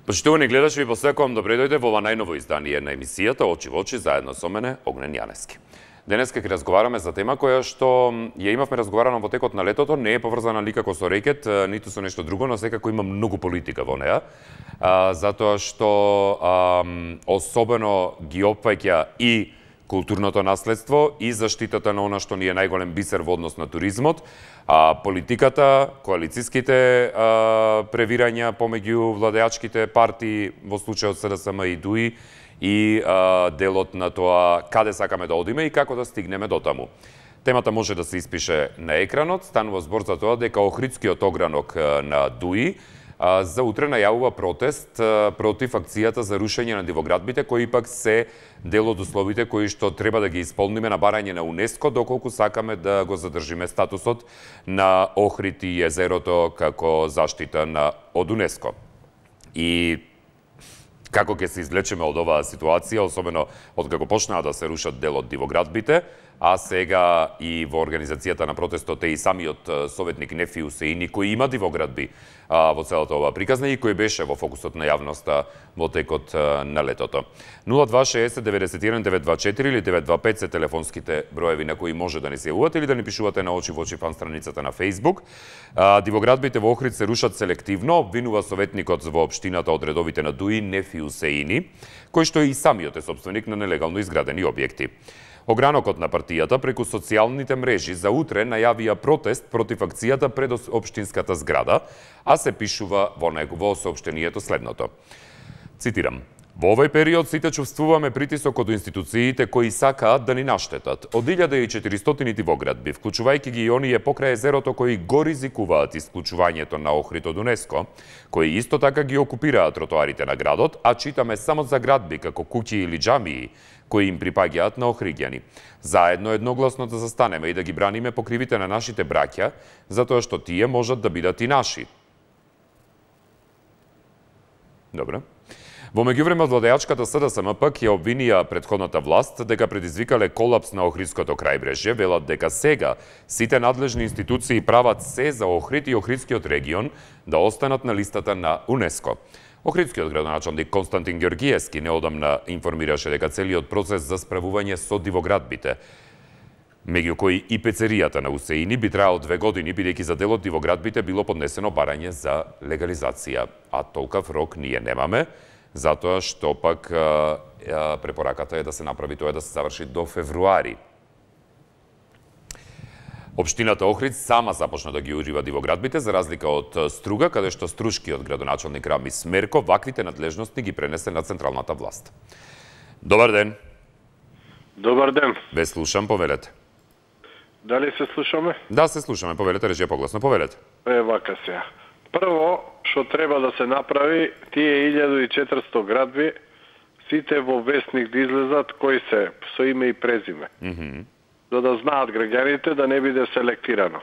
Почитувани гледачи, ви посекувам добре дојде во ова најново издание на емисијата Очи во очи заедно со мене Огнен Јанески. Денеска ќе разговараме за тема која што ја имавме разговарано во текот на летото, не е поврзана никако со рекет, ниту со нешто друго, но секако има многу политика во неа, затоа што особено ги опфаќа и културното наследство и заштитата на она што ни е најголем бисер во однос на туризмот, политиката, коалициските превирања помеѓу владеачките партии, во случајот СДСМ и ДУИ, и делот на тоа каде сакаме да одиме и како да стигнеме до таму. Темата може да се испише на екранот, станува збор за тоа дека Охридскиот огранок на ДУИ за утре најавува протест против акцијата за рушење на дивоградбите, кои пак се дел од условите кои што треба да ги исполниме на барање на УНЕСКО, доколку сакаме да го задржиме статусот на Охрид и езерото како заштита од УНЕСКО. И како ќе се излечеме од оваа ситуација, особено од како почнаа да се рушат дел од дивоградбите, а сега и во организацијата на протестот е и самиот советник Нефи Усеини, кој има дивоградби во целата оваа приказна и кој беше во фокусот на јавноста во текот на летото. 0260 91 924 или 925 се телефонските броеви на кои може да ни се јавувате или да ни пишувате на Очи во очи фан страницата на Facebook. Дивоградбите во Охрид се рушат селективно, обвинува советникот во општината од редовите на ДУИ Нефи Усеини, кој што и самиот е собственик на нелегално изградени објекти. Огранокот на партијата преку социјалните мрежи за утре најавија протест против акцијата пред општинската зграда, а се пишува во соопштението следното. Цитирам: "Во овој период сите чувствуваме притисок од институциите кои сакаат да ни наштетат. Од 1400 дивоградби, вклучувајќи ги и оние покрај езерото кои го ризикуваат исклучувањето на Охрид од УНЕСКО, кои исто така ги окупираат тротоарите на градот, а читаме само за градби како куќи или џамии, кои им припаѓаат на охриѓани. Заедно едногласно да застанеме и да ги браниме покривите на нашите браќа, затоа што тие можат да бидат и наши." Добро. Во меѓувреме владеачката СДСМ пак ја обвинија претходната власт дека предизвикале колапс на Охридското крајбрежје, велат дека сега сите надлежни институции прават се за Охрид и Охридскиот регион да останат на листата на УНЕСКО. Охридскиот градоначалник Константин Ѓоргиевски неодамна информираше дека целиот процес за справување со дивоградбите, меѓу кои и пецеријата на Усеини, би траел 2 години, бидејќи за дел од дивоградбите било поднесено барање за легализација. А толкав рок ние немаме, затоа што пак препораката е да се направи тоа да се заврши до февруари. Општината Охрид сама започна да ги урива дивоградбите, за разлика од Струга, каде што струшкиот градоначалник Рамис Смерко ваквите надлежности ги пренесе на централната власт. Добар ден. Добар ден. Ве слушам, повелете. Дали се слушаме? Да, се слушаме, повелете, речи погласно, повелете. Вака сега. Прво, што треба да се направи, тие 1400 градби, сите во вестник да излезат кои се, со име и презиме. За да знаат граѓаните да не биде селектирано.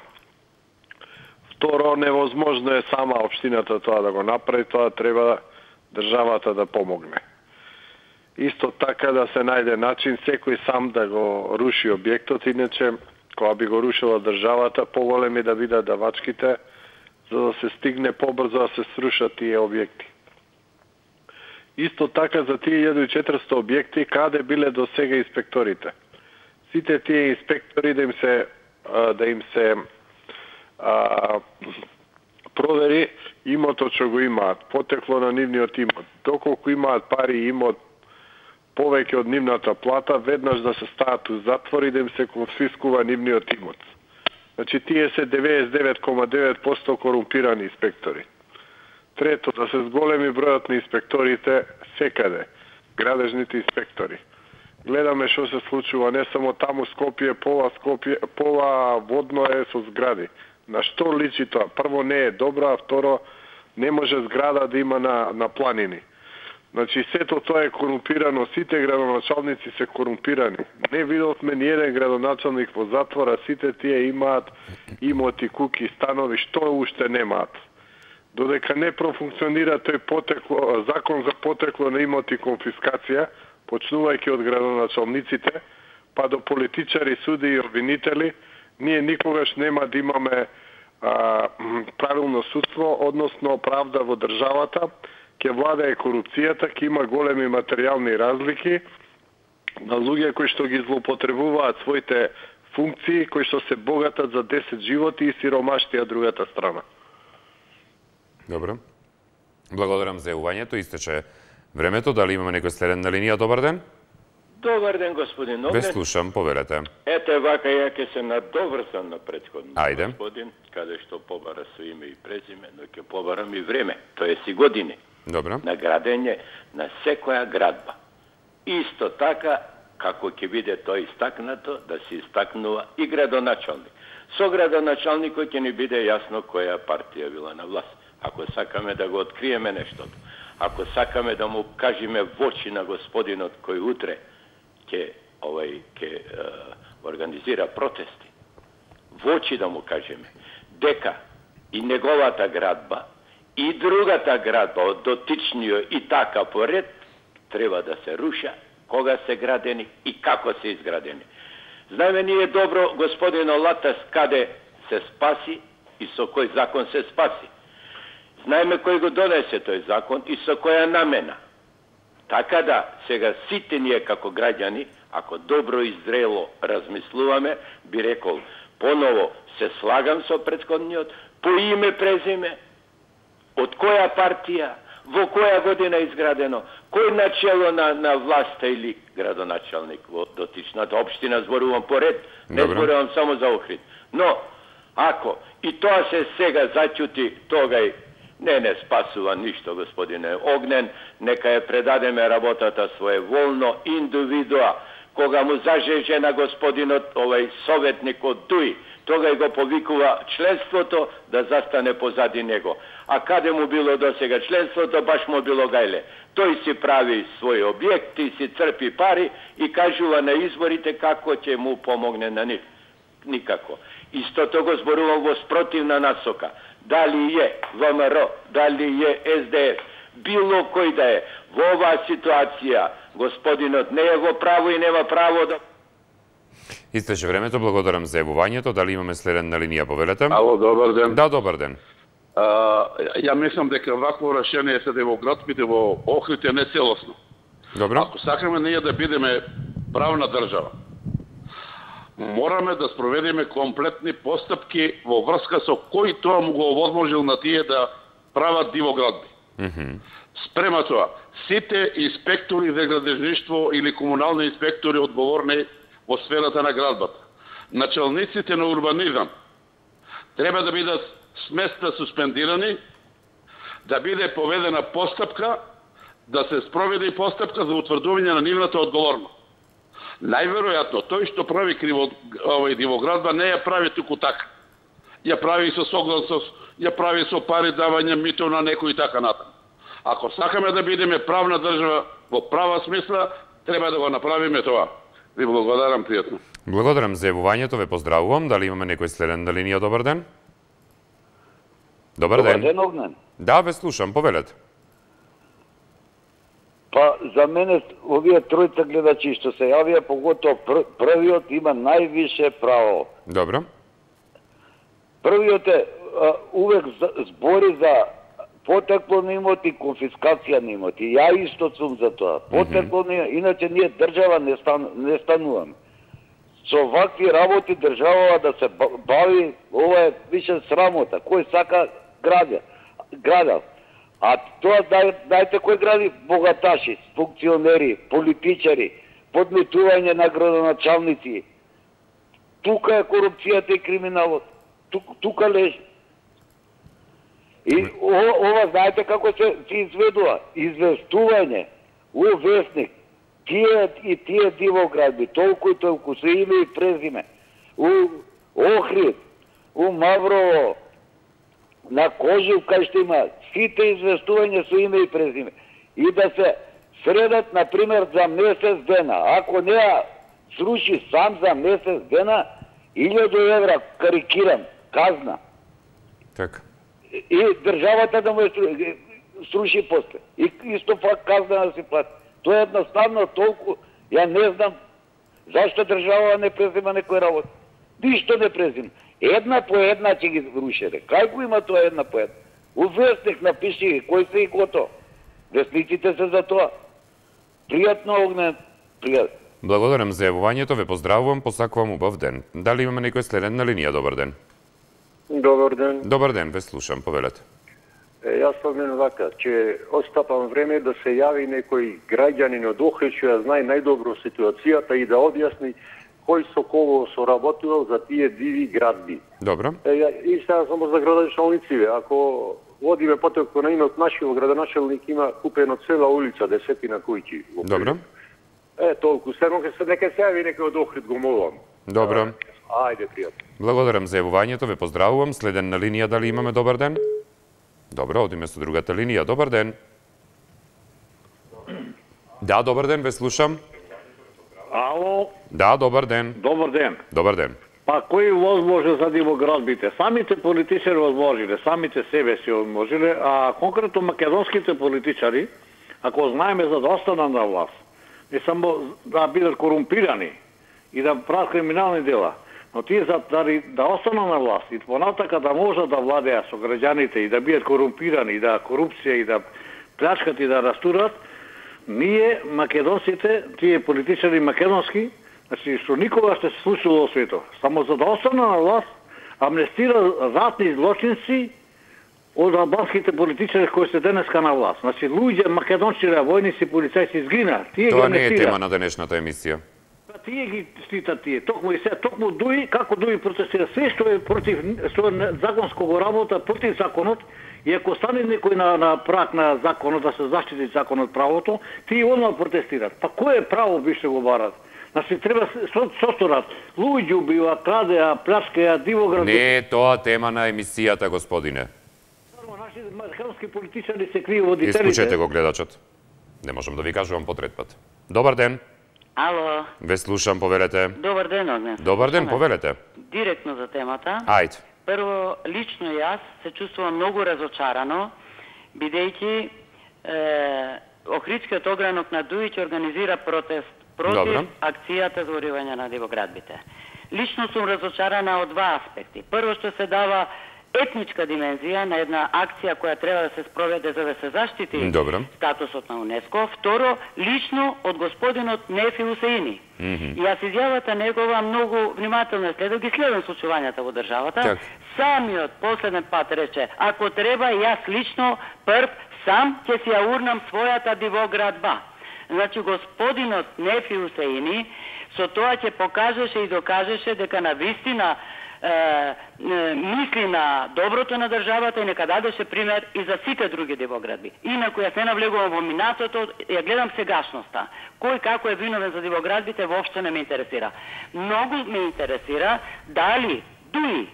Второ, невозможно е сама општината тоа да го направи, тоа треба државата да помогне. Исто така да се најде начин секој сам да го руши објектот, иначе кога би го рушила државата, поголеми да бидат давачките, за да се стигне побрзо да се срушат тие објекти. Исто така за тие 1400 објекти, каде биле до сега инспекторите? Сите тие инспектори да им се провери имотот што го имаат, потекло на нивниот имот. Доколку имаат пари и имот повеќе од нивната плата, веднаш да се стават у затвор и да им се конфискува нивниот имот. Значи, тие се 99,9% корумпирани инспектори. Трето, да се зголеми бројот на инспекторите секаде, градежните инспектори. Гледаме што се случува не само таму Скопје, пола водно е со згради. На што личи тоа? Прво не е добро, а второ не може зграда да има на планини. Значи сето тоа е корумпирано, сите градоначалници се корумпирани. Не видовме ни еден градоначалник во затвора, сите тие имаат имоти, куки, станови, што уште немаат. Додека не профункционира тој закон за потекло на имоти конфискација, почнувајќи од градоначалниците, па до политичари, суди и обвинители, ние никогаш нема да имаме правилно судство, односно правда во државата, ќе владае корупцијата, ќе има големи материјални разлики на луѓе кои што ги злоупотребуваат своите функции, кои што се богатат за 10 животи и сиромаштија другата страна. Добро. Благодарам за јавувањето. Истече времето. Дали имаме некој следен на линија? Добар ден. Добар ден, господин Огнен. Ве слушам, поверете. Ете вака, ја ќе се надоврзам на претходниот Ајде. господин, каде што побара со име и презиме, но ќе побарам и време, тоест и години. Добро. На градење на секоја градба. Исто така, како ќе биде тој истакнато, да се истакнува и градоначалник. Со градоначалникот ќе ни биде јасно која партија била на власт. Ако сакаме да го откриеме нештото, ако сакаме да му кажеме во очи на господинот кој утре ќе организира протести, во очи да му кажеме дека и неговата градба и другата градба од дотичниот и така поред треба да се руша, кога се градени и како се изградени. Знаеме ние добро господин Латас каде се спаси и со кој закон се спаси. Знаеме кој го донесе тој закон и со која намена. Така да, сега сите ние како граѓани, ако добро и зрело размислуваме, би рекол, поново се слагам со претходниот, по име, презиме, од која партија, во која година изградено, кој начело на власта или градоначалник во дотичната општина, зборувам поред, не зборувам само за Охрид. Но, ако и тоа се сега зачути, тогај не спасува ништо, господине Огнен, нека ја предадеме работата своеволно, индивидуа, кога му зажеже на господинот, советник од ДУИ, тогај го повикува членството да застане позади него. А каде му било досега членството, баш му било гајле. Тој си прави своји објекти, си црпи пари и кажува на изборите како ќе му помогне на нив. Никако. Истото го зборувам во спротивна насока. Дали е ВМРО, дали е СДС, било кој да е, во оваа ситуација господинот не е во право и нема право да... Истече времето, благодарам за јавувањето. Дали имаме следен на линија, повелете? Ало, добар ден. Да, добар ден. Ја мислам дека вакво решение се во градските во Охрид е нецелосно. Добро. Ако сакаме ние да бидеме правна држава, мораме да спроведеме комплетни постапки во врска со кој тоа му го овозможил на тие да прават дивоградби. Спрема тоа, сите инспектори за градежништво или комунални инспектори одговорни во сферата на градбата, началниците на урбанизам, треба да бидат сместа суспендирани, да биде поведена постапка, да се спроведе постапка за утврдување на нивната одговорност. Најверојатно, тој што прави дивоградба не ја прави туку така. Ја прави со согласност, ја прави со пари давање мито на некој и така натаму. Ако сакаме да бидеме правна држава во права смисла, треба да го направиме тоа. Ви благодарам пријатно. Благодарам за јавувањето, ве поздравувам. Дали имаме некој следен на линија? Добар ден. Добар ден. Добар ден, Огнен. Да, ве слушам, повелете. Па, за мене, овие тројца гледачи што се јавија, поготово првиот има највише право. Добро. Првиот е, увек збори за потекло на имот и конфискација на имот. И ја исто сум за тоа. Потекло на имот, иначе ние држава не стануваме. Со вакви работи држава да се бави, ова е више срамота. Кој сака градел. А тоа дајте кој гради? Богаташи, функционери, политичари, подметување на градоначалници. Тука е корупцијата и криминалот. Тука лежи. И ова знаете како се изведува? Известување у вестник. Тие дивоградби, толку и толку се име и презиме. У Охрид, у Маврово, на Кожув, кај што има сите известување со име и презиме. И да се средат, например, за месец дена. Ако не ја сруши сам за месец дена, 1000 евра, карикирам, казна. Така. И државата да му ја сруши после. И исто пак казна да се плати. Тоа е едноставно толку, ја не знам зашто држава не презима некој работа. Ништо не презима. Една по една ќе ги рушере. Кај го има тоа една по една? У вестник напиши кој се и кото. Вестниците се за тоа. Пријатно, Огнен, пријатно. Благодарам за јавувањето, ве поздравувам, посакувам убав ден. Дали имаме некој следен на линија? Добар ден. Добар ден. Добар ден, ве слушам, повелете. Јас спомнем вака, че отстапам време да се јави некој граѓанин од Охрид што ја знае најдобро ситуацијата и да објасни кој со кого соработувал за тие диви градби. Добро. И сега само за градоначалниците, ако водиме потоко на имот нашиот градоначалник има купено цела улица, десетина куќи. Добро. Толку. Само нека се јави некој од Охрид, го молам. Добро. Ајде, пријатно. Благодарам за јавувањето, ве поздравувам. Следен на линија, дали имаме добар ден? Добро, одиме со другата линија. Добар ден. Да, добар ден, ве слушам. Ало? Да, добар ден. Добар ден. Добар ден. Па кој возможи за демоградбите? Самите политичари возможиле, самите себе си возможиле, а конкретно македонските политичари, ако знаеме за да останат на власт, не само да бидат корумпирани и да прават криминални дела, но тие да останат на власт и понатака да можат да владеат со граѓаните и да бидат корумпирани, и да корупција и да плячкат и да растурат, ние македонците, тие политичари македонски, значи што никога ще се случило во светот, само за да останат на власт, амнестира ратни злочинци од албанските политичари кои се денеска на власт. Значи луѓе македончири, војници, полицајци изгина. Тоа не е тема на денешната емисија. Тие ги штитат тие. Токму и се, токму Дуи, како Дуи протестира, се што е против, што е законско го работа, против законот, и ако стане некој на прак на законот, да се заштити законот правото, тие одма протестират. Па кој е право бише го барат? Значи треба состорат. Луѓе убива, крадеа, плячкаја, дивоград. Не е тоа тема на емисијата, господине. Наши македонски политичари се крију водителите. Исклучете го гледачот. Не можам да ви кажувам потрет пат. Добар ден. Ало. Ве слушам, повелете. Добар ден, Огнен. Добар ден, повелете. Директно за темата. Ајде. Прво, лично јас се чувствувам многу разочарано, бидејќи Охридскиот огранок на Дуи ќе организира протест против акцијата за уривање на дивоградбите. Лично сум разочарана од два аспекти. Прво, што се дава етничка димензија на една акција која треба да се спроведе за да се заштити статусот на УНЕСКО. Второ, лично од господинот Нефи Усеини. И јас изјавата негова многу внимателно следам, ги следам случувањата во државата. Самиот последен пат рече, ако треба јас лично прв сам ќе си ја урнам својата дивоградба. Значи господинот Нефи Усеини со тоа ќе покажеше и докажеше дека на вистина мисли на доброто на државата и нека дадеше пример и за сите други дивоградби. Инаку јас не навлегувам во минатото, ја гледам сегашноста. Кој како е виновен за дивоградбите воопшто не ме интересира. Многу ме интересира дали Дуи,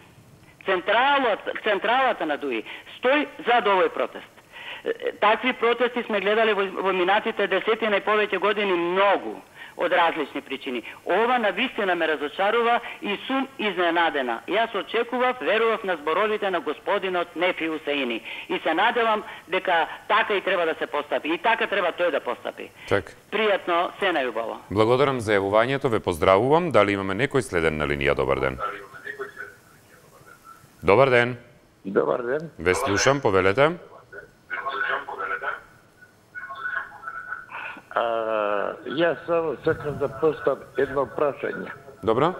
централата на Дуи, стои за овој протест. Такви протести сме гледали во минатите десетина и повеќе години многу од различни причини. Ова навистина ме разочарува и сум изненадена. Јас очекував, верував на зборовите на господинот Нефи Усеини и се надевам дека така и треба да се постапи. И така треба тој да постапи. Пријатно, се најубаво. Благодарам за јавувањето, ве поздравувам. Дали имаме некој следен на линија? Добар ден. Добар ден. Добар ден. Ве слушам, повелете. Јас само сакам да поставам едно прашање. Добро.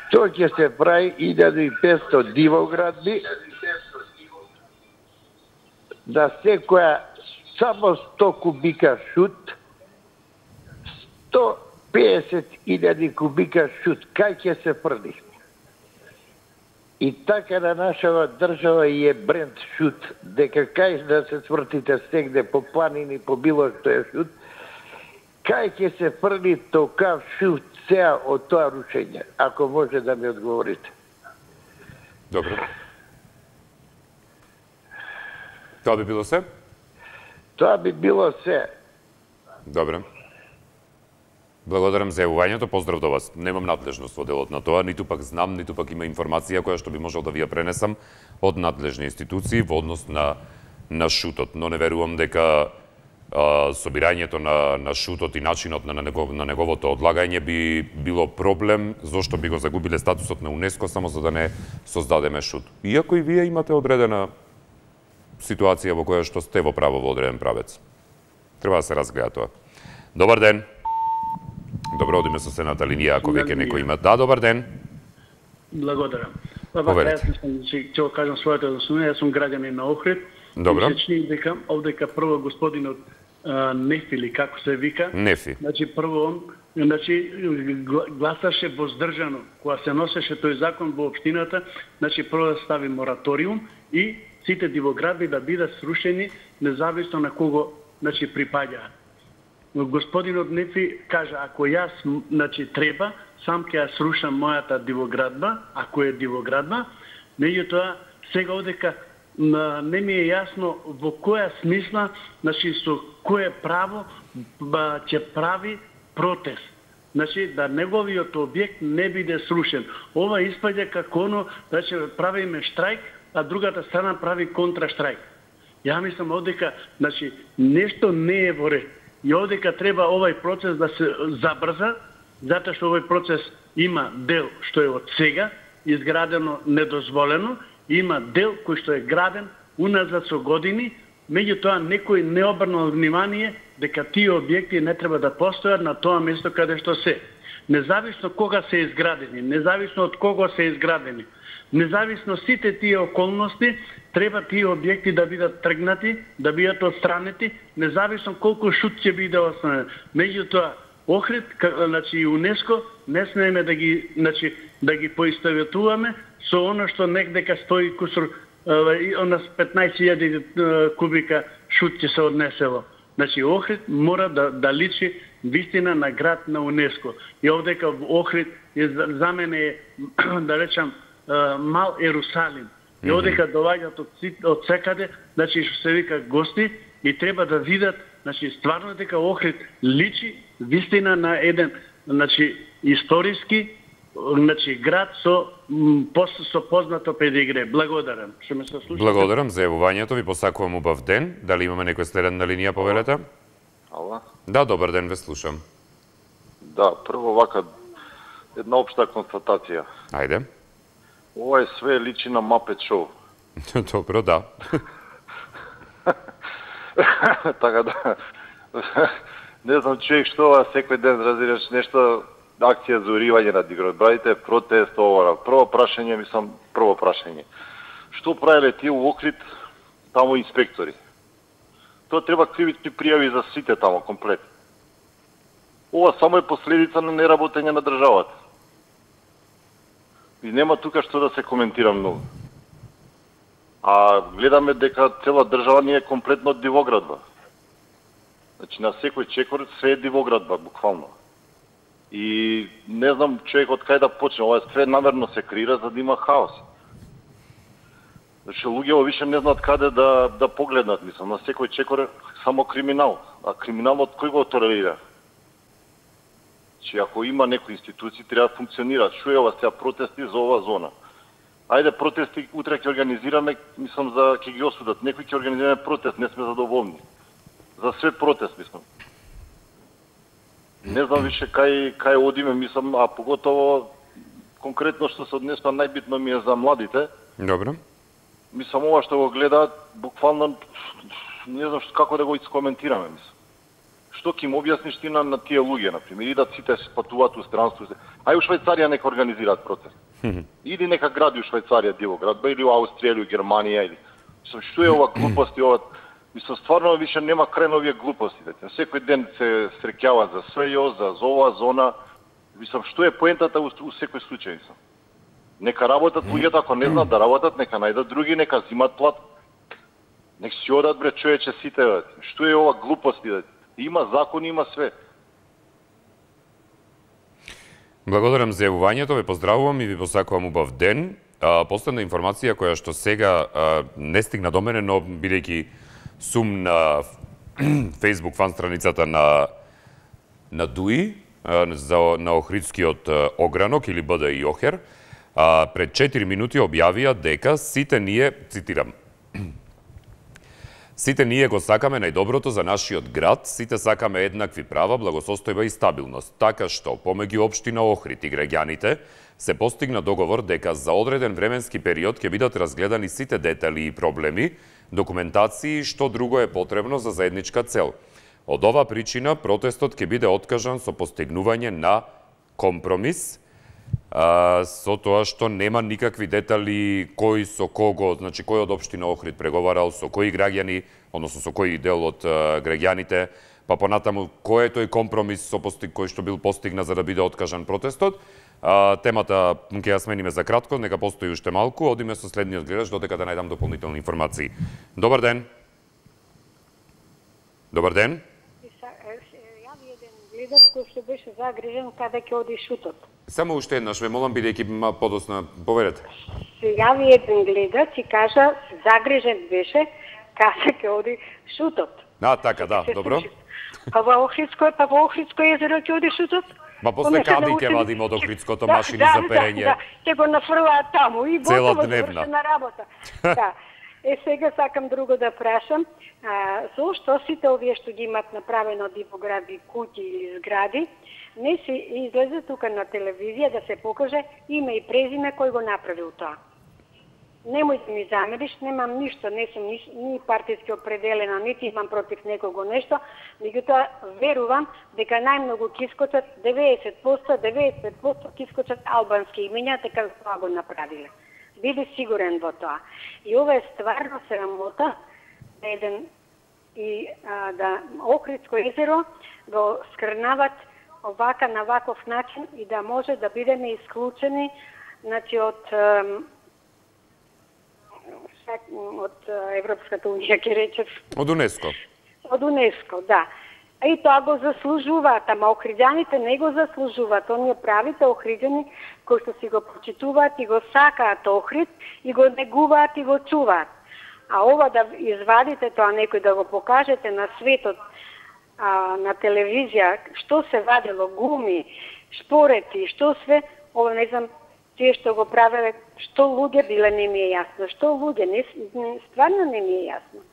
Што ќе се прави 1500 дивоградби да секоја само 100 кубика шут, 150.000 кубика шут, кај ќе се фрли? И така на нашава држава и е бренд шут, дека кај да се свртите сегде по планини, по било што е шут, кај ќе се фрли токав шут сеа од тоа рушење, ако може да ми одговорите. Добро. Тоа би било се? Тоа би било се. Добро. Благодарам за јавувањето, поздрав до вас. Немам надлежност во делот на тоа, ниту пак знам, ниту пак има информација која што би можел да ви ја пренесам од надлежни институции во однос на шутот, но не верувам дека собирањето на шутот и начинот на неговото одлагање би било проблем, зошто би го загубиле статусот на УНЕСКО само за да не создадеме шут. Иако и вие имате одредена ситуација во која што сте во право во одреден правец. Треба да се разгледа тоа. Добар ден. Добро, одиме со следната линија, ако веќе некој има. Да, добар ден. Благодарам. Поверете. Ќе го кажам своето однесување, јас сум граѓанин на Охрид. Добро. Се чини дека овдека прво господинот Нефи, или како се вика. Нефи. Значи прво он гласаше воздржано кога се носеше тој закон во општината, значи прво да стави мораториум и сите дивоградби да бидат срушени независно на кого значи припаѓаат. Господинот Нефи кажа, ако јас значи треба, сам ќе ја срушам мојата дивоградба, ако е дивоградба, меѓутоа сега одека не ми е јасно во која смисла, значи со кое право ќе прави протест. Значи да неговиот објект не биде срушен. Ова испаѓа како оно да ќе правиме штрајк, а другата страна прави контраштрайк. Ја мислам одека значи нешто не е во ред. И одека треба овај процес да се забрза, затоа што овој процес има дел што е од сега изградено недозволено, има дел кој што е граден уназад со години, меѓутоа некој не обрнал внимание дека тие објекти не треба да постојат на тоа место каде што се. Независно кога се изградени, независно од кого се изградени, независно сите тие околности, треба тие објекти да бидат тргнати, да бидат отстранети, независно колку шут ќе биде останен. Меѓутоа, Охрид, значи УНЕСКО, не смееме да ги, значи, да ги поистоветуваме со оно што некдека стои кусур, она 15.000 кубика шут ќе се однесело. Значи, Охрид мора да личи вистина на град на УНЕСКО. И овдека Охрид за мене е, да речам, мал Ерусалим. И одека доаѓаат од секаде, значи што се вика гости и треба да видат, значи стварно дека Охрид личи вистина на еден, значи историски, значи град со познато педигре. Благодарам. Што ме се слушате? Благодарам за јавувањето, ви посакувам убав ден. Дали имаме некој следен на линија, повелете? Ала? Да, добар ден, ве слушам. Да, прво вака една општа констатација. Ајде. Ова е све личи на Muppet Show. Добро, да. Така да. Не знам човек што секој ден разираш нешто, акција за уривање на диградбите, протест, ова. Прво прашање. Што правеле тие у Охрид таму инспектори? Тоа треба кривични пријави за сите таму комплет. Ова само е последица на неработење на државата. И нема тука што да се коментира многу. А гледаме дека цела држава ни е комплетно дивоградба. Значи на секој чекор се е дивоградба, буквално. И не знам човек од кај да почне, ова све намерно се креира за да има хаос. Значи луѓето више не знаат каде да погледнат, мислам, на секој чекор е само криминал. А криминалот кој го толерира? Че ако има некои институции треба да функционираат. Што е ова сега протести за ова зона? Ајде протести утре ќе организираме, мислам за ќе ги осудат. Некои ќе организираме протест, не сме задоволни. За све протест, мислам. Не знам више кај одиме, мислам, а поготово конкретно што се однесува најбитно ми е за младите. Добро. Мислам ова што го гледаат, буквално не знам како да го искоментираме, мислам. Што ќе им објасниш ти на тие луѓе, например, идат сите се патуваат у странство. Ај у Швајцарија нека организираат протест. Иди нека гради у Швајцарија дивоградба или у Австрија или у Германија или мислам што е ова глупости ова. Мислам стварно више нема крај на овие глупости. Секој ден се среќаваат за СЈО, за ова зона. Мислам што е поентата у секој случај, мислам. Нека работат луѓето, ако не знаат да работат, нека најдат други, нека зимат плат. Нека си одат бре човече сите. Што е ова глупости? Има закон, има све. Благодарам за јавувањето, ве поздравувам и ви посакувам убав ден. Последна информација која што сега не стигна до мене, но бидејќи сум на Facebook фан страницата на ДУИ, на Охридскиот огранок или БДИ Охер, пред 4 минути објавија дека сите ние, цитирам, Сите ние го сакаме најдоброто за нашиот град, сите сакаме еднакви права, благосостојба и стабилност. Така што, помеѓу општина Охрид и граѓаните, се постигна договор дека за одреден временски период ќе бидат разгледани сите детали и проблеми, документации и што друго е потребно за заедничка цел. Од ова причина протестот ќе биде откажан со постигнување на компромис, со тоа што нема никакви детали кој со кого, значи кој од општина Охрид преговарал, со кои граѓани, односно со кој дел од граѓаните, па понатаму кој е тој компромис кој што бил постигнат за да биде откажан протестот. Темата ќе ја смениме за кратко, нека постои уште малку, одиме со следниот гледач додека да најдам дополнителни информации. Добар ден. Добар ден. Јави еден гледач кој што беше загрижен каде ќе оди шутот. Само уште еднаш, ве молам, бидејќи подосна, поверете. Се јави еден гледач и кажа, загрижен беше каде ќе оди шутот. Така, да, добро. Па во Охридско езеро ќе оди шутот? Па после каби ќе вадиме од Охридското машини за перење. Да, ќе го нафрлаат таму и готово завршена работа. Да. Сега сакам друго да прашам, зошто сите овие што ги имат направено дивоградби куќи или згради, не се излезе тука на телевизија да се покаже име и презиме кој го направил тоа. Немој да ми замериш, немам ништо, не сум ни партиски определена, нити имам против некого нешто, меѓутоа верувам дека најмногу ќе искочат 90% ќе искочат албански имиња, така тоа го направиле. Биде сигурен во тоа. И ова е стварно срамота да Охридско езеро го скрнават овака на ваков начин и да може да бидеме исклучени, значи од Европската унија, ќе речев. Од УНЕСКО. Од УНЕСКО, да. И тоа го заслужуваат, ама охриѓаните не го заслужуваат. Оние правите охриѓани кои што си го почитуваат и го сакаат Охрид и го негуваат и го чуваат. А ова да извадите тоа некој да го покажете на светот, на телевизија, што се вадело, гуми, шпорети, што све, ова не знам, тие што го правеле, што луѓе биле, не ми е јасно. Што луѓе, стварно не ми е јасно.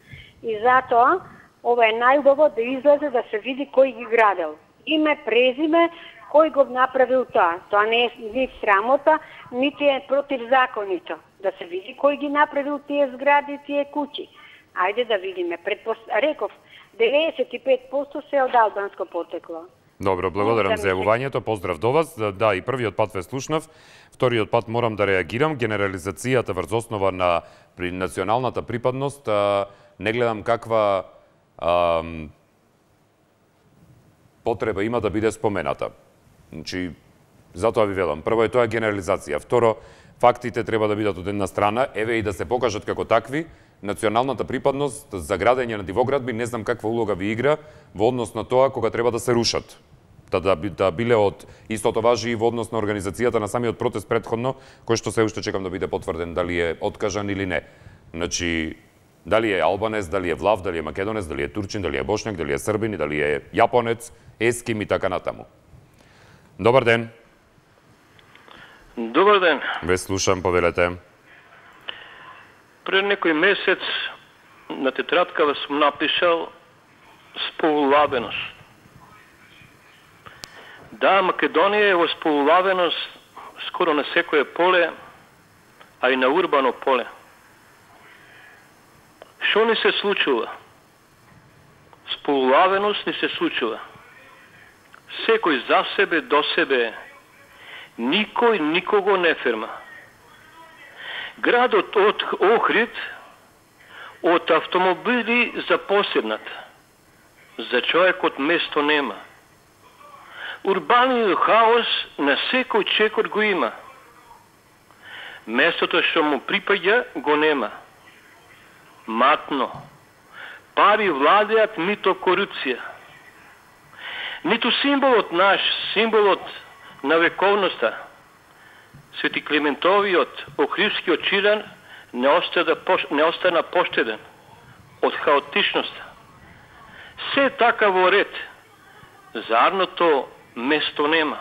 И затоа, ова е најубаво да излезе да се види кој ги градел. Име, презиме, кој го направил тоа. Тоа не е ни срамота, нити е против законито. Да се види кој ги направил тие згради, тие куќи. Ајде да видиме. Реков, 95% се од албанско потекло. Добро, благодарам за јавувањето, поздрав до вас. Да, и првиот пат ве слушнав, вториот пат морам да реагирам. Генерализацијата врз основа на националната припадност, не гледам каква потреба има да биде спомената. Значи, затоа ви велам, прво е тоа генерализација, второ, фактите треба да бидат од една страна, еве и да се покажат како такви. Националната припадност за градење на дивоградби не знам каква улога ви игра во однос на тоа кога треба да се рушат. Да биле од истото важи и во однос на организацијата на самиот протест претходно, кој што се уште чекам да биде потврден дали е откажан или не. Значи, дали е албанец, дали е влав, дали е македонец, дали е турчин, дали е бошњак, дали е србин, дали е јапонец, еским и така натаму. Добар ден. Добар ден. Ве слушам, повелете. Пред некој месец на тетрадкава сум напишал сполулавеност. Да, Македонија е во сполулавеност скоро на секое поле, а и на урбано поле. Што ни се случува? Сполулавеност ни се случува. Секој за себе, до себе, никој никого не ферма. Градот од Охрид од автомобили запоседнат. За човекот место нема. Урбаниот хаос на секој чекор го има. Местото што му припаѓа го нема. Матно. Пари владеат, нито корупција. Ниту символот наш, символот на вековноста, Свети Климентовиот, Охридскиот Чиран, не остана поштеден од хаотичноста. Се така во ред, зарното место нема.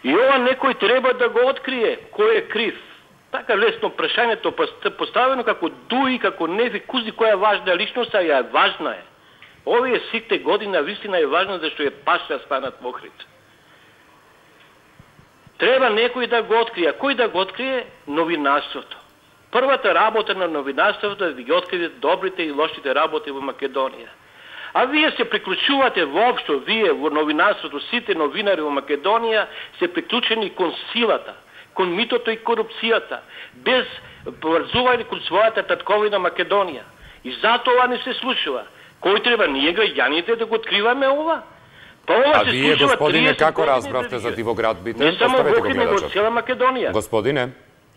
И ова некој треба да го открие, кој е крив. така лесно прашањето поставено како дуи, како неви, кузи која е важна личност, а ја важна е. Овие сите година вистина е важна зашто е паша станат во Охрид. Треба некој да го открие. Кој да го открие? Новинарството. Првата работа на новинарството е да ги открие добрите и лошите работи во Македонија. А вие се приклучувате воопшто, вие во новинарството, сите новинари во Македонија се приклучени кон силата, кон митото и корупцијата, без поврзување кон својата татковина Македонија. И затоа не се случува. Кој треба ние граѓаните да го откриваме ова? А вие, господине, како разбравте за дивоградбите? Не само во Охрид, него цела Македонија. Господине,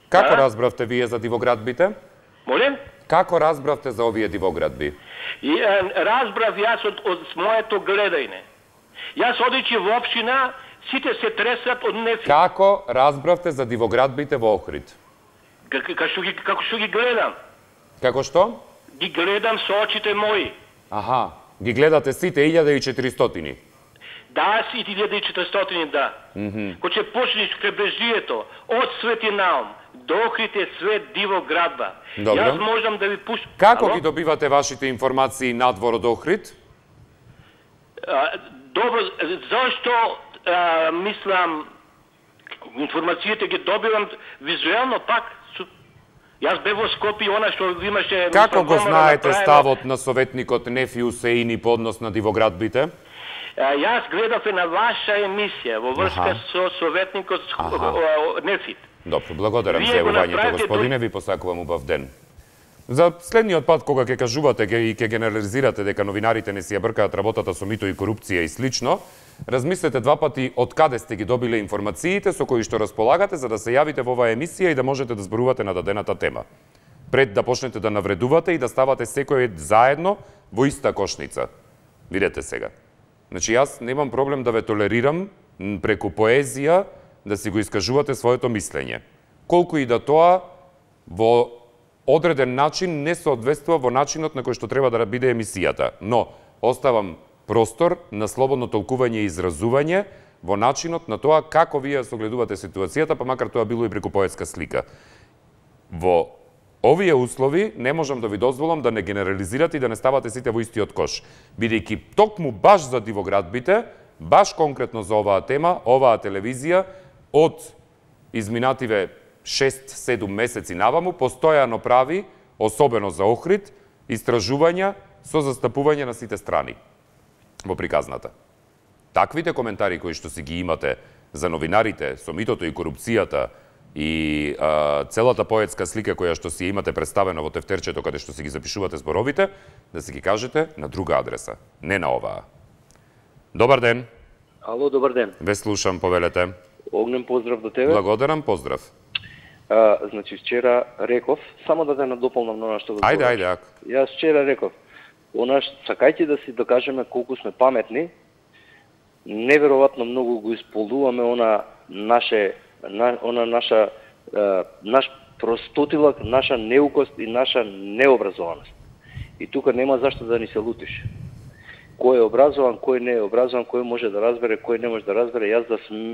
како разбравте вие за дивоградбите? Молем? Како разбравте за овие дивоградби? Разбрав јас од моето гледање. Јас одејќи во општина, сите се тресат од нефи. Како разбравте за дивоградбите во Охрид? Како што ги гледам. Како што? Ги гледам со очите мои. Аха, ги гледате сите 1400? Да, сите 1400, да. Кога ќе почнеш кребрежието од Свети Наум до Охрид е све дивоградба. Јас можам да ви пуштам. Како ги добивате вашите информации надвор од Охрид? Добро, зашто мислам информациите ги добивам визуелно пак. Јас бев во Скопје, она што имаше... Како го знаете ставот на советникот Нефи Усеини по однос на дивоградбите? Јас гледав на ваша емисија во врска со советникот Нефит. Добро, благодарам за јавувањето, господине, ви посакувам убав ден. За следниот пат кога ќе кажувате и ќе генерализирате дека новинарите не си ја бркаат работата со мито и корупција и слично, размислете два пати од каде сте ги добиле информациите со кои што располагате за да се јавите во оваа емисија и да можете да зборувате на дадената тема. Пред да почнете да навредувате и да ставате секој заедно во иста кошница. Видете сега. Значи јас немам проблем да ве толерирам преку поезија да си го искажувате своето мислење. Колку и да тоа во одреден начин не соодветствува во начинот на кој што треба да биде емисијата, но оставам простор на слободно толкување и изразување во начинот на тоа како вие согледувате ситуацијата, па макар тоа било и преку поетска слика. Во овие услови не можам да ви дозволам да не генерализирате и да не ставате сите во истиот кош, бидејќи токму баш за дивоградбите, баш конкретно за оваа тема, оваа телевизија од изминативе 6-7 месеци наваму постојано прави, особено за Охрид, истражувања со застапување на сите страни во приказната. Таквите коментари кои што си ги имате за новинарите, со митото и корупцијата и целата поетска слика која што си имате представена во тефтерчето каде што си ги запишувате зборовите, да си ги кажете на друга адреса, не на оваа. Добар ден. Ало, добар ден. Ве слушам, повелете. Огнен поздрав до тебе. Благодарам, поздрав. Значи, вчера реков, само да те надополнам на она што го збориш. Ајде. Јас вчера реков, сакајќи да си докажеме колку сме паметни, неверојатно многу го исполнуваме наш простотилак, наша неукост и наша необразованост. И тука нема зашто да ни се лутиш. Кој е образован, кој не е образован, кој може да разбере, кој не може да разбере. Јас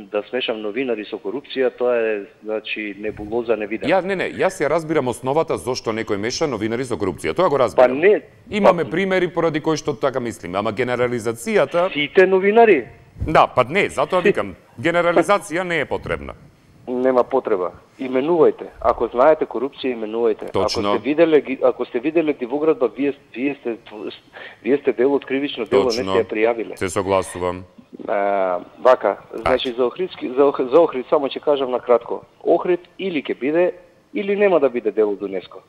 да смешам новинари со корупција, тоа е, значи, небулоза невидена. Јас ја разбирам основата зошто некој меша новинари со корупција. Тоа го разбирам. Имаме примери поради кои што така мислиме, ама генерализацијата... Сите новинари? Да, не, затоа викам, генерализација не е потребна. Нема потреба. Именувајте. Ако знаете корупција, именувајте. Точно. Ако сте виделе дивоградба, вие сте дел од кривично дело, не сте ја пријавиле. Се согласувам. Вака, значи за Охрид само ќе кажам на кратко. Охрид или ќе биде, или нема да биде дел од ЮНЕСКО.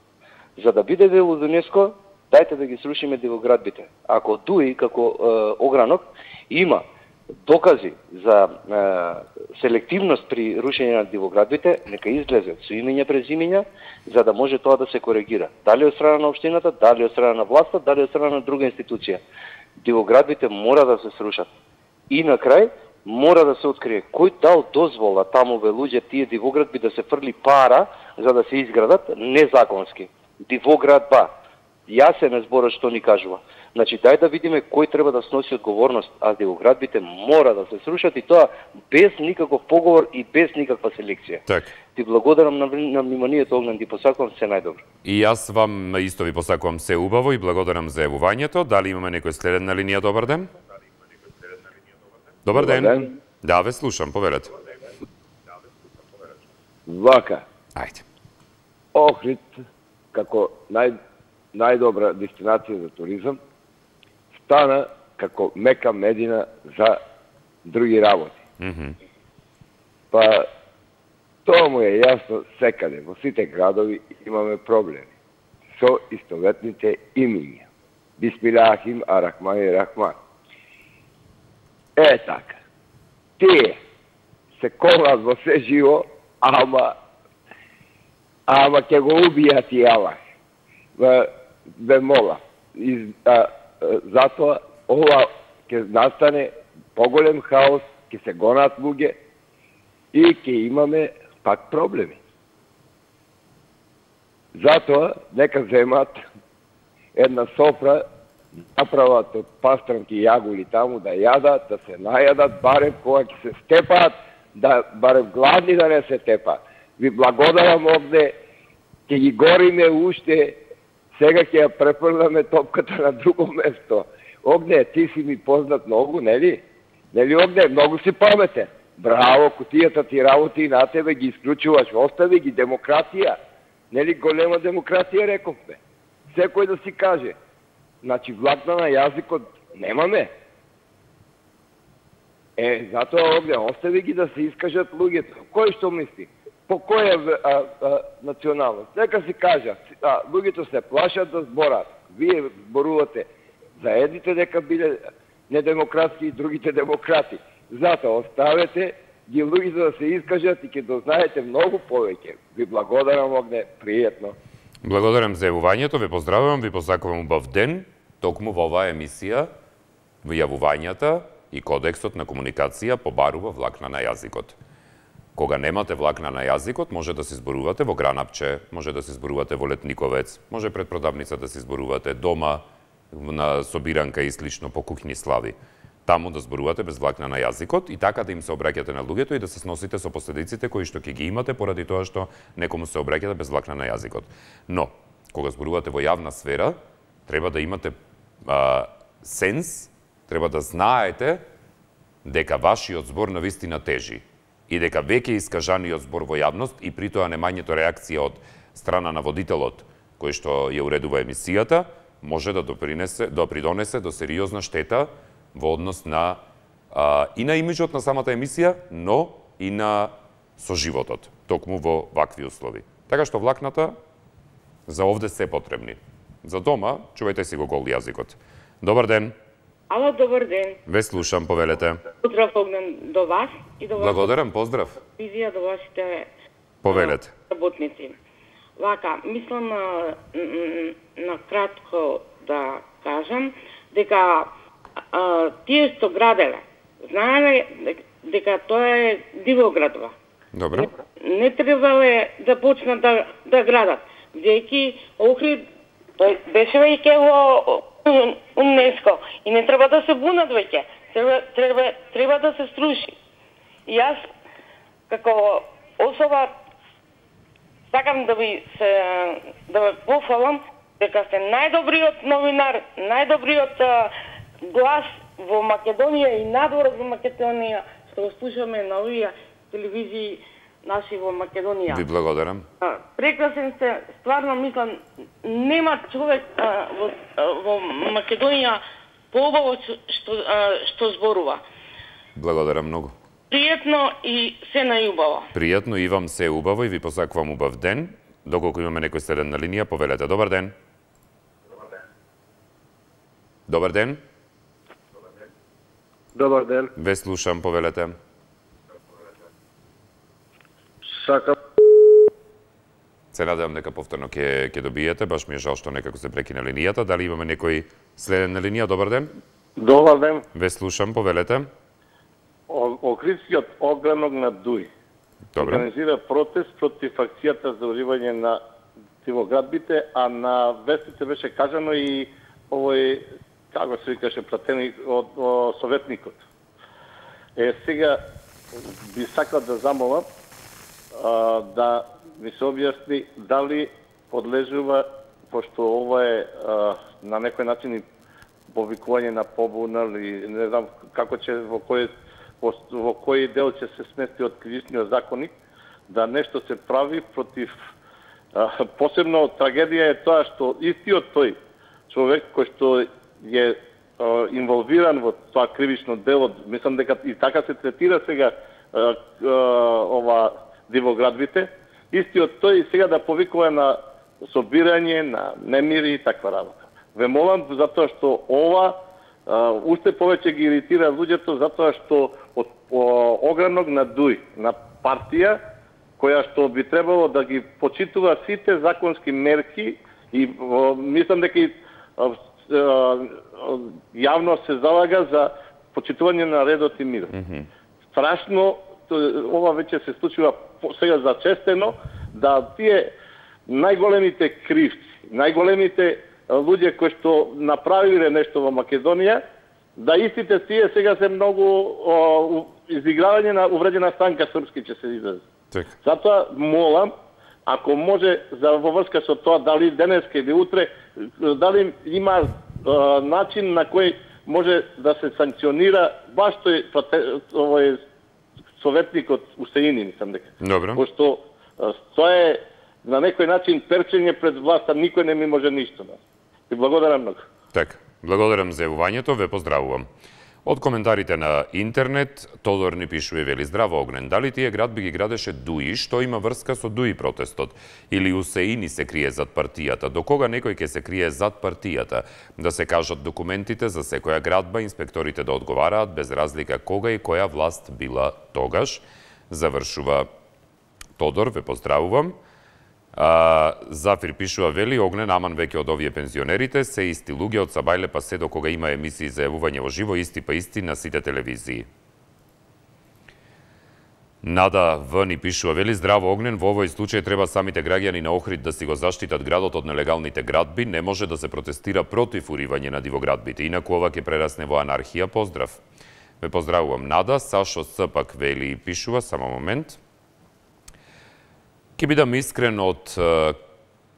За да биде дел од ЮНЕСКО, дајте да ги срушиме дивоградбите. Ако ДУИ како огранок има докази за селективност при рушење на дивоградбите, нека излезе со имења презимења, за да може тоа да се коригира. Дали од страна на општината, дали од страна на власта, дали од страна на друга институција. Дивоградбите мора да се срушат. И на крај, мора да се открие кој дал дозвола тамуве луѓе тие дивоградби да се фрли пара за да се изградат незаконски. Дивоградба. Јасен е зборот што ни кажува. Значи, дај да видиме кој треба да сноси одговорност, а дивоградбите мора да се срушат и тоа без никаков поговор и без никаква селекција. Так. Ти благодарам на вниманието, Огнен, ти посакувам се најдобро. И јас вам исто ви посакувам се убаво и благодарам за јавувањето. Дали имаме некој следен на линија? Добар ден. Добар ден. Да, ве слушам, повелете. Вака. Ајде. Охрид, како најдобра дестинација за туризам, стана како Мека Медина за други работи. Па, тоа му е јасно секаде. Во сите градови имаме проблеми со истоветните имиња. Бисмилахим арахман и рахман. Така. Тие се колат во се живо, ама ќе го убијат и Аллах. Ве мола. Затоа ова ќе настане поголем хаос, ќе се гонат луѓе и ќе имаме пак проблеми. Затоа нека земат една софра, направат од пастранки јагули таму да јадат, да се најадат, барем кога ќе се степаат, да барем гладни да не се тепаат. Ви благодарам овде, ќе ги гориме уште, сега ќе ја препрнаме топката на друго место. Огне, ти си ми познат многу, нели? Нели, Огне, многу си паметен. Браво, кутијата ти работи и на тебе ги исклучуваш, остави ги демократија. Нели, голема демократија, рековме. Секој да си каже. Значи, влакна на јазикот немаме. Затоа Огне, остави ги да се искажат луѓето. Кој што мисли? По која националност? Нека си кажа, луѓето се плашат да зборат. Вие зборувате за едните дека биле недемократски и другите демократи. Затоа оставете ги луѓето да се искажат и ќе дознаете многу повеќе. Ви благодарам, Огне, пријатно. Благодарам за јавувањето, ве поздравувам, ви посакувам убав ден, токму во оваа емисија, во јавувањата и кодексот на комуникација побарува влакна на јазикот. Кога немате влакна на јазикот, може да се зборувате во Гранапче, може да се зборувате во Летниковец, може пред продавница да се зборувате дома, на собиранка и слично по куќни слави. Таму да зборувате без влакна на јазикот и така да им се обраќате на луѓето и да се сносите со последиците кои што ќе ги имате поради тоа што некому се обраќате без влакна на јазикот. Но, кога зборувате во јавна сфера, треба да имате сенс, треба да знаете дека вашиот збор навистина тежи и дека веќе искажаниот збор во јавност и при тоа немањето реакција од страна на водителот кој што ја уредува емисијата, може да придонесе до сериозна штета во однос на и на имиџот на самата емисија, но и на соживотот, токму во вакви услови. Така што влакната за овде се потребни. За дома, чувајте си го гол јазикот. Добар ден. Ало, добар ден. Ве слушам, повелете. Поздрав, Огнен, до вас и до вас. Благодарам, поздрав. Визија до вашите повелете. Работници. Вака, мислам на кратко да кажам дека тие што граделе, знаеле дека тоа е дивоградба. Добро. Не требале да почнат да градат. Веќе Охрид тој беше веќе во УНЕСКО и не треба да се бунат веќе. Треба да се струши. И јас како особа сакам да ви пофалам дека сте најдобриот новинар, најдобриот глас во Македонија и надвор во Македонија, што го слушаме на овие телевизии наши во Македонија. Ви благодарам. Прекрасен сте, стварно мислам, нема човек во Македонија поубаво што зборува. Благодарам многу. Пријатно и се најубаво. Пријатно и вам се убаво и ви посакувам убав ден. Доколку имаме некој следен на линија, повелете. Добар ден. Добар ден. Добар ден. Ве слушам, повелете. Сакам. Се надевам дека повторно ќе добиете, баш ми е жал што некако се прекина линијата. Дали имаме некој следен на линија? Добар ден. Добар ден. Ве слушам, повелете. Охридскиот огранок на Дуј организира протест против акцијата за уривање на дивоградбите, а на вестите беше кажано и овој, како се викаше, пратени од советникот. Сега би сакал да замолам да ми се објасни дали подлежува, пошто ова е на некој начин и повикување на побуна или не знам како ќе во кој дел ќе се смести од кривичниот законник, да нешто се прави против посебно трагедија е тоа што истиот тој човек кој што е инволвиран во тоа кривично дело, мислам дека и така се третира сега ова дивоградбите, истиот тој сега да повикува на собирање, на немири и таква работа. Ве молам затоа што ова уште повеќе ги иритира луѓето затоа што од огранок на ДУИ, на партија која што би требало да ги почитува сите законски мерки и мислам дека и јавно се залага за почитување на редот и мирот. Страшно, ова веќе се случува сега зачестено, да тие најголемите кривци, најголемите луѓе кои што направиле нешто во Македонија, да истите тие сега се многу изигравање на увредена станка српски ќе се изрази. Затоа молам, ако може во врска со тоа, дали денеска или утре, дали има начин на кој може да се санкционира баш овој советникот Усеини, мислам дека. Добро. Пошто тоа е на некој начин перчење пред власта, никој не ми може ништо. И благодарам многу. Така, благодарам за јавувањето, ве поздравувам. Од коментарите на интернет, Тодор ни пишува и вели: здраво Огнен, дали тие градби ги градеше ДУИ, што има врска со ДУИ протестот? Или Усеини се крие зад партијата? До кога некој ќе се крие зад партијата? Да се кажат документите за секоја градба, инспекторите да одговараат без разлика кога и која власт била тогаш. Завршува Тодор, ве поздравувам. Зафир пишува, вели: Огнен, аман веќе од овие пензионерите, се исти луѓе од Сабајле па се до кога има емисии за јавување во живо, исти па исти на сите телевизии. Нада В ни пишува, вели: здраво Огнен, во овој случај треба самите граѓани на Охрид да си го заштитат градот од нелегалните градби, не може да се протестира против уривање на дивоградбите, инаку ова ќе прерасне во анархија. Поздрав. Ве поздравувам, Нада. Сашо С пак вели и пишува, само момент. Ке бидам искрен од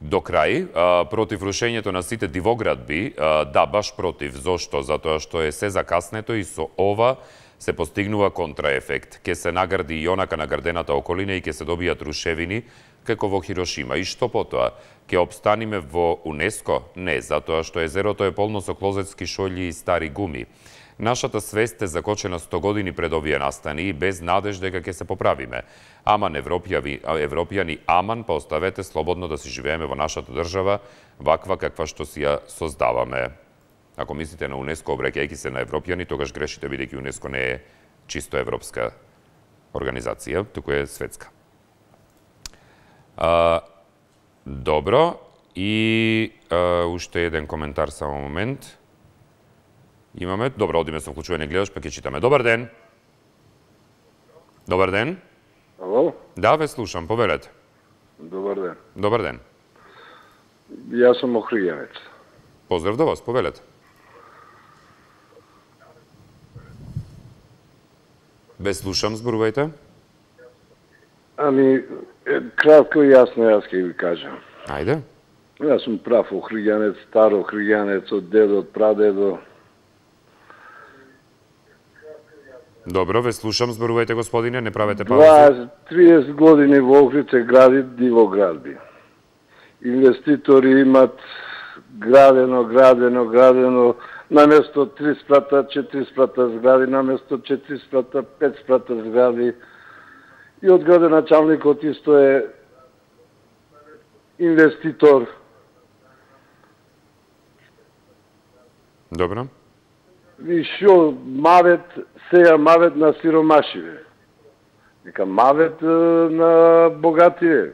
до крај, против рушењето на сите дивоградби, да, баш против. Зошто? Затоа што е се закаснето и со ова се постигнува контраефект. Ке се награди и онака наградената околина и ке се добијат рушевини како во Хирошима. И што потоа? Ке обстаниме во УНЕСКО? Не, затоа што езерото е полно со клозетски шољи и стари гуми. Нашата свест е закочена 100 години пред овие настани и без надеж дека ќе се поправиме. Аман европјани, аман, па оставете слободно да си живееме во нашата држава, ваква каква што си ја создаваме. Ако мислите на УНЕСКО, обраќајќи се на европјани, тогаш грешите, бидејќи УНЕСКО не е чисто европска организација, туку е светска. Добро, и уште еден коментар, само момент. Имаме. Добро, одиме со вклучување гледаш, па ќе читаме. Добар ден. Добар ден. Ало? Да, ве слушам, повелете. Добар ден. Добар ден. Јас сум охриѓанец. Поздрав до вас, повелете. Ве слушам, зборувајте. Ами, кратко и јасно јас ќе ви кажам. Ајде. Јас сум прав охриѓанец, стар охриѓанец, од дедо, од прадедо. Добро, ве слушам, зборувајте, господине, не правете паузи. 30 години во Охрид се гради дивоградби. Инвеститори имат градено, наместо 3 спрата, 4 спрата згради, наместо 4 спрата, 5 спрата згради. И од градоначалникот исто е инвеститор. Добро. И шо мавет, сега мавет на сиромашиве. Нека мавет на богативе.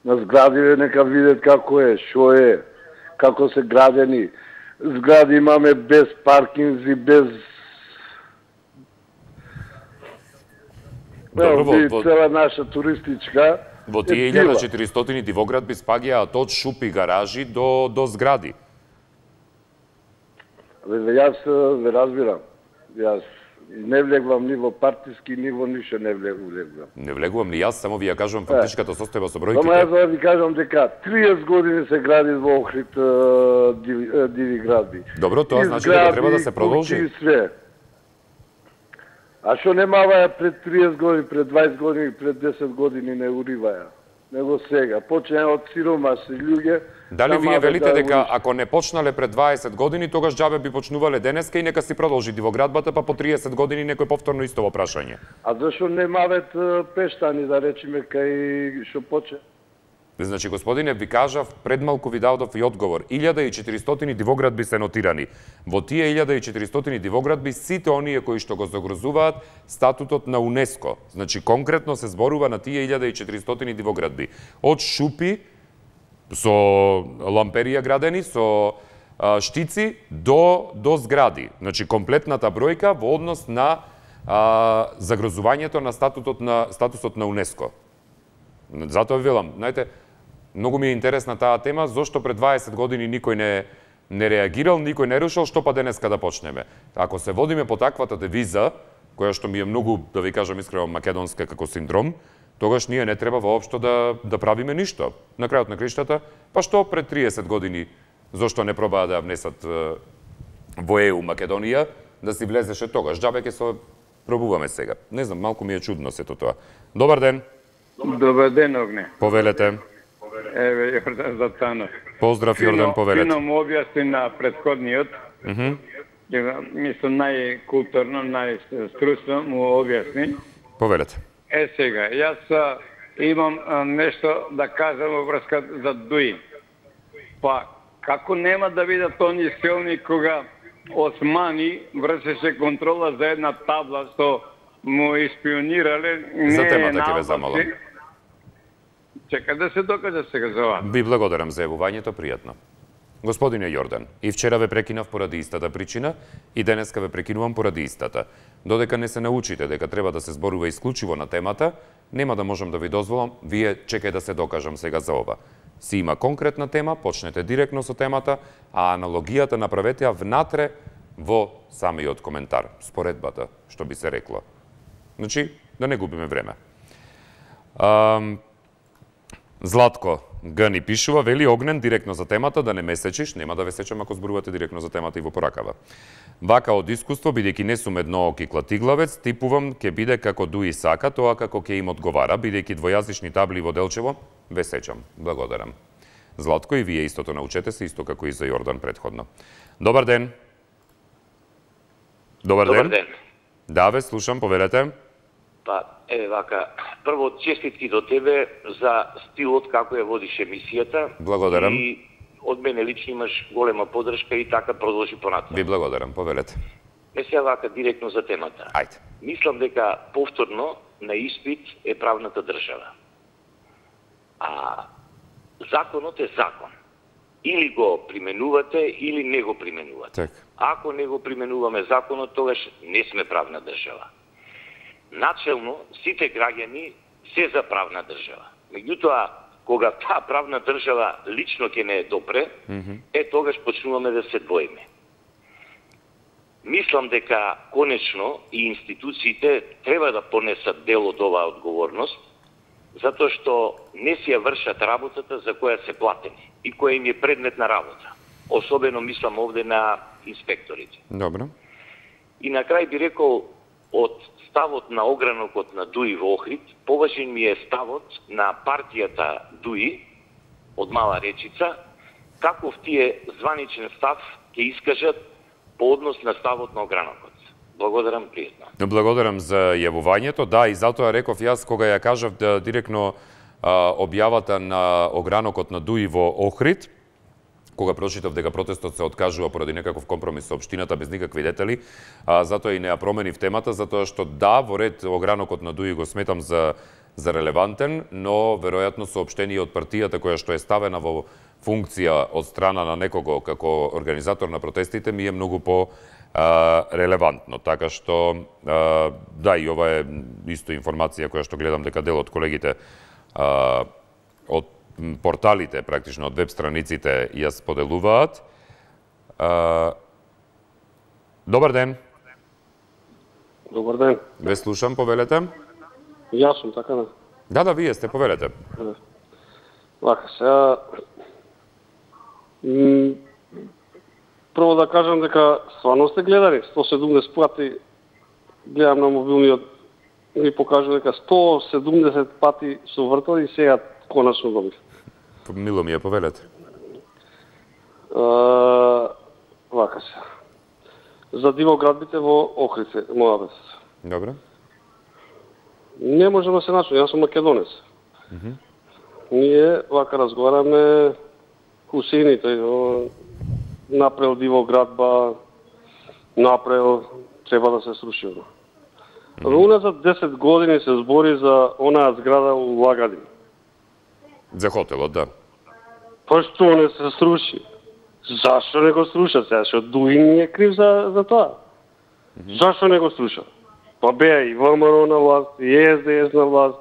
На зградиве нека видят како е, шо е, како се градени. Згради имаме без паркинзи, без... Добро, цела наша туристичка... Во тие 1400 дивоградби спаѓаат од шупи гаражи до згради. Јас ве разбирам. Јас Не влегувам ни во партиски, ни во ништо не влегувам. Не влегувам ни јас, само ви ја кажувам фактичката состојба со бројките. Само јас ви кажам дека 30 години се гради во Охрид диви градби. Добро, тоа значи дека треба да се продолжи. А што немаваја пред 30 години, пред 20 години, пред 10 години не уриваја? Него сега. Почне од сиромашни луѓе. Дали вие велите дека ако не почнале пред 20 години, тогаш џабе би почнувале денеска и нека си продолжи дивоградбата, па по 30 години некој повторно исто во прашање? А зашо немавет пештани, да речеме, кај што почне? Значи, господине, ви кажав, пред малку ви дадов и одговор. 1400 дивоградби се нотирани. Во тие 1400 дивоградби сите оние кои што го загрозуваат статутот на УНЕСКО. Значи, конкретно се зборува на тие 1400 дивоградби. Од шупи, со ламперија градени, со штици, до згради. Значи, комплетната бројка во однос на загрозувањето на статусот на УНЕСКО. Затоа ви велам, знаете, многу ми е интересна таа тема, зошто пред 20 години никој не реагирал, никој не решил, што па денеска да почнеме. Ако се водиме по таквата девиза, која што ми е многу, да ви кажам искрено, македонска како синдром, тогаш ние не треба воопшто да правиме ништо. На крајот на криштата, па што пред 30 години, зошто не пробаа да внесат во ЕУ Македонија, да си влезеше тогаш. Џабе ќе се пробуваме сега. Не знам, малку ми е чудно сето тоа. Добар ден. Добар ден, Огне. Повелете. Еве, Јордан Златанов. Поздрав, Јордан, повелете. Фино му објасни на претходниот. Мислам, најкултурно, најструсно му објасни. Повелете. Сега, јас имам нешто да кажам во врска за ДУИ. Па, како нема да бидат они силни кога Османи вршеше контрола за една табла што му испионирале. За темата ќе ве замолам. Чека да се докаже сега за ова. Ви благодарам за јавувањето, пријатно. Господине Јордан, и вчера ве прекинав поради истата причина, и денеска ве прекинувам поради истата. Додека не се научите дека треба да се зборува исклучиво на темата, нема да можам да ви дозволам, вие чекај да се докажам сега за ова. Си има конкретна тема, почнете директно со темата, а аналогијата направете ја внатре во самиот коментар, споредбата, што би се рекло. Значи, да не губиме време. Златко Г ни пишува, вели Огнен директно за темата, да не ме сечиш, нема да ве сечам ако зборувате директно за темата и во поракава. Вака од искуство, бидејќи не сум еднооки клатиглавец, типувам ке биде како ДУИ сака, тоа како ке им одговара, бидејќи двојазични табли во Делчево, ве сечам. Благодарам. Златко, и вие истото научете се, исто како и за Јордан предходно. Добар ден. Добар ден. Да, ве слушам, повелете. Па, еве вака, прво честитки до тебе за стилот како ја водиш емисијата. Благодарам. И од мене лично имаш голема поддршка и така продолжи понатаму. Ви благодарам, повелете. Не се вака директно за темата. Ајде. Мислам дека повторно на испит е правната држава. А законот е закон. Или го применувате, или не го применувате. Так. Ако не го применуваме законот, тогаш не сме правна држава. Начелно, сите граѓани се за правна држава. Меѓутоа, кога таа правна држава лично ќе не допре, тогаш почнуваме да се двоиме. Мислам дека конечно и институциите треба да понесат дел од оваа одговорност, затоа што не си ја вршат работата за која се платени и која им е предмет на работа. Особено мислам овде на инспекторите. Добро. И на крај би рекол, од ставот на огранокот на ДУИ во Охрид, поважен ми е ставот на партијата ДУИ од Мала Речица, каков тие званичен став ќе искажат по однос на ставот на огранокот. Благодарам, пријатно. Благодарам за јавувањето. Да, и затоа реков јас кога ја кажав да директно објавата на огранокот на ДУИ во Охрид, кога прочитав дека протестот се откажува поради некаков компромис со општината без никакви детали, затоа и не ја променив темата, затоа што да, во ред огранокот на ДУИ го сметам за релевантен, но веројатно соопштение од партијата која што е ставена во функција од страна на некого како организатор на протестите ми е многу по релевантно. Така што да, и ова е исто информација која што гледам дека дел од колегите од порталите, практично од веб страниците ја споделуваат. Добар ден. Добар ден. Ве слушам, повелете. Јас сум, така да? Да, вие сте, повелете. Вака, сега... Прво да кажам дека стварно сте гледали 170 пати, гледам на мобилниот, ми покажува дека 170 пати се вртал и сега конечно добив. Мило ми е, повелете. Вака се. За дивоградбите во Охрид се моја вест. Добре. Не можем да се начнем, јас сум македонец. Ние вака разговараме Хусеините, направил дивоградба, направил, треба да се сруши. Во уназад 10 години се збори за онаа зграда у Лагадин. За хотелот, да. Па што не се сруши? Зашто не го сруша сега? Што Дуин е крив за тоа? Зашто не го сруша? Па беа и ВМРО на власт, и СДС на власт.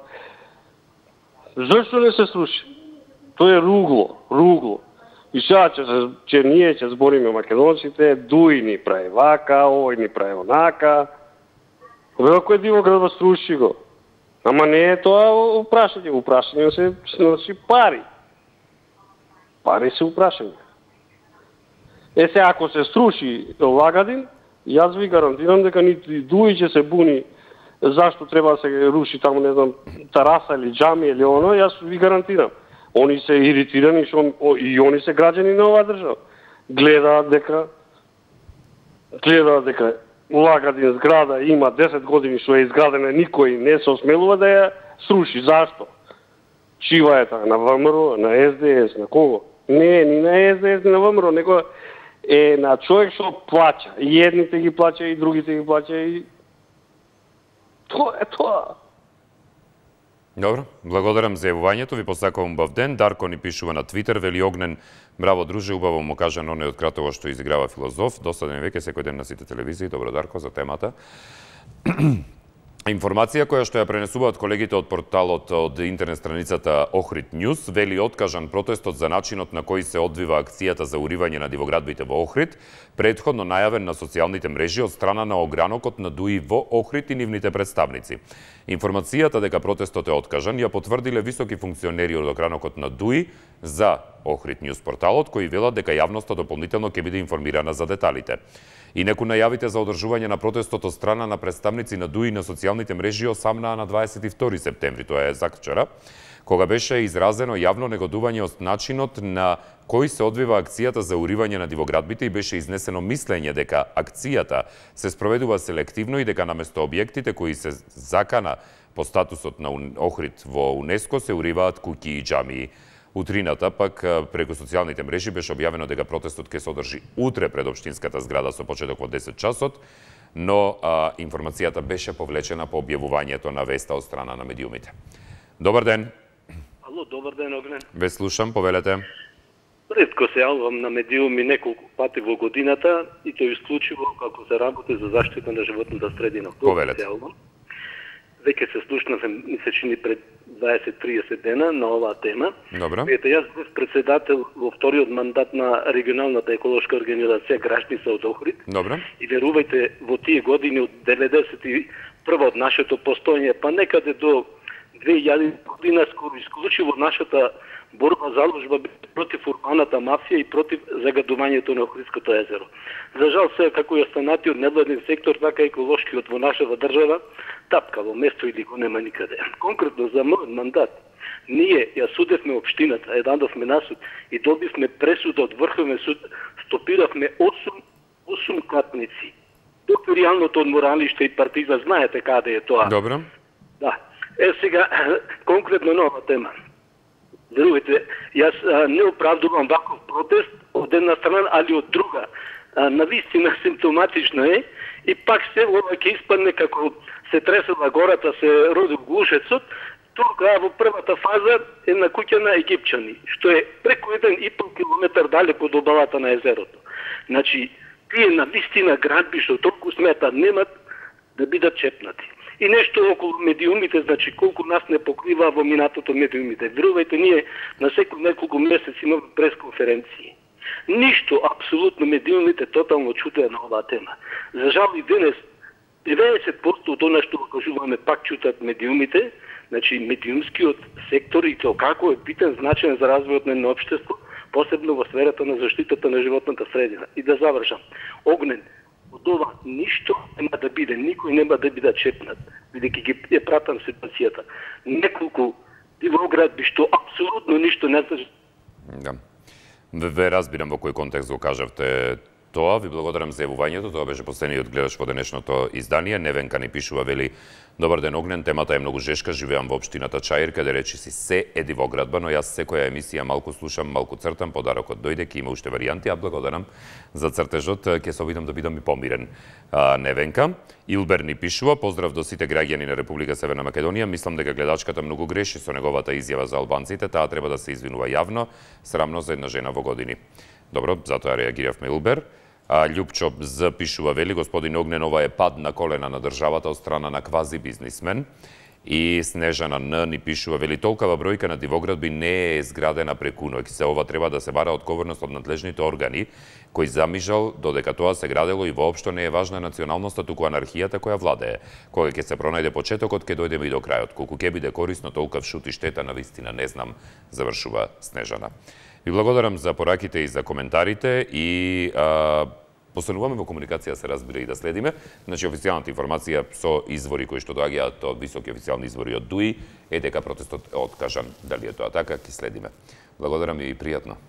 Зашто не се сруши? Тоа е ругло. И сега че ние ќе збориме македонците, Дуин ни прави вака, овој ни прави онака. Велико е дивоградба, сруши го. Ама не е тоа упрашање. Упрашање се носи пари. Пари се упрашање. Сега, ако се сруши Лагадин, јас ви гарантирам дека нити Дуи ќе се буни зашто треба да се руши таму, не знам, тараса или џами или оно, јас ви гарантирам. Они се иритирани, и они се граѓани на оваа држава. Гледаат дека Лагадин зграда има 10 години што е изградена, никој не се осмелува да ја сруши. Зашто? Чива е таа на ВМРО, на СДС, на кого? Не, ни на СДС, ни на ВМРО, него е на човек што плаќа. И едните ги плаќа, и другите ги плаќа, и тоа е тоа. Добро, благодарам за јавувањето, ви посакувам убав ден. Дарко ни пишува на Твитер, вели Огнен, браво друже, убаво му кажа на оној од Кратово што изиграва филозоф, досаден веќе секој ден на сите телевизии. Добро, Дарко, за темата. Информација која што ја пренесуваат колегите од порталот од интернет страницата Охрид Ньюс вели откажан протестот за начинот на кој се одвива акцијата за уривање на дивоградбите во Охрид, претходно најавен на социјалните мрежи од страна на огранокот на ДУИ во Охрид и нивните представници. Информацијата дека протестот е откажан ја потврдиле високи функционери од огранокот на ДУИ за Охрид Ньюс порталот, кои велат дека јавноста дополнително ќе биде информирана за деталите. Инаку најавите за одржување на протестот од страна на представници на ДУИ на социјалните мрежи осамнаа на 22 септември, тоа е заквчера, кога беше изразено јавно негодување од начинот на кој се одвива акцијата за уривање на дивоградбите и беше изнесено мислење дека акцијата се спроведува селективно и дека наместо објектите кои се закана по статусот на Охрид во УНЕСКО се уриваат куќи и џамии. Утрината, пак преку социјалните мрежи беше објавено дека протестот ќе се одржи утре пред општинската зграда со почеток во 10 часот, но информацијата беше повлечена по објавувањето на веста од страна на медиумите. Добар ден. Ало, добар ден, Огнен. Ве слушам, повелете. Ретко се јавувам на медиуми неколку пати во годината и тоа исклучиво како се работи за заштита на животната средина. Повелете. Веќе се слушнавме, ми се чини пред 20-30 дена на оваа тема. Добро. Ете, јас бев председател во вториот мандат на регионалната еколошка организација Грашница од Охрид. Добро. И верувајте, во тие години од 91 од нашето постоење, па некаде до 2000 година скоро исклучиво нашата борба заложба против урбаната мафија и против загадувањето на Охридското езеро. За жал се како и останатиот невладен сектор, така и еколошкиот во нашата држава, тапка во место или го нема никаде. Конкретно за мојот мандат, ние ја судевме општината, ја дадовме на суд и добивме пресуда од Врховен суд, стопиравме 8 катници. Доктор реалното одморалиште и партиза, знаете каде е тоа. Добро. Да. Сега, конкретно нова тема. Верувате, јас не оправдувам ваков протест од една страна, али од друга. Навистина симптоматично е и пак се ова ќе испадне како се тресела гората, се роди глушецот, тука во првата фаза е на куќа на египчани, што е преку 1,5 километар далеко од обалата на езерото. Значи, тие навистина градби што толку сметат немат да бидат чепнати. И нешто околу медиумите, значи колку нас не покрива во минатото медиумите. Верувајте, ние на секој неколку месеци имаме пресконференции. Ништо, апсолутно медиумите тотално чутеа на оваа тема. За жал и денес 90% од она што кажуваме пак чутат медиумите, значи медиумскиот сектор и тоа како е битен значаен за развојот на едно општество, посебно во сферата на заштитата на животната средина. И да завршам. Огнен, од ова ништо нема да биде, никој нема да биде чепнат, бидејќи ги е пратам ситуацијата. Неколку дивоградби што апсолутно ништо не значи. Да. Ве разбирам во кој контекст го кажавте тоа. Ви благодарам за јавувањето. Тоа беше последниот гледач во денешното издание. Невенка ни пишува, вели: добар ден, Огнен, темата е многу жешка, живеам во општината Чаир, каде речиси се е дивоградба, но јас секоја емисија малку слушам, малку цртам, подарокот дојде, ке има уште варијанти, а благодарам за цртежот, ќе се обидам да бидам и помирен. Невенка. Илбер ни пишува: поздрав до сите граѓани на Република Северна Македонија, мислам дека гледачката многу греши со неговата изјава за албанците, таа треба да се извинува јавно, срамно за една жена во години. Добро, затоа реагиравме Илбер. Љупчо запишува, вели: господин Огнен, ова е пад на колена на државата од страна на квази бизнисмен. И Снежана Н ни пишува, вели: толкава бројка на дивоградби не е изградена преку ноќ. Се ова треба да се бара одговорност од надлежните органи, кој замижал додека тоа се градело и воопшто не е важна националноста, туку анархијата која владее. Кога ќе се пронајде почетокот, ќе дојдеме и до крајот. Колку ќе биде корисно, толкав шут и штета, навистина не знам, завршува Снежана. Ви благодарам за пораките и за коментарите и постануваме во комуникација, се разбира, и да следиме. Значи, официјалната информација со извори кои што доаѓаат од високи официјални извори од ДУИ е дека протестот е откажан. Дали е тоа така, ќе следиме. Благодарам и пријатно.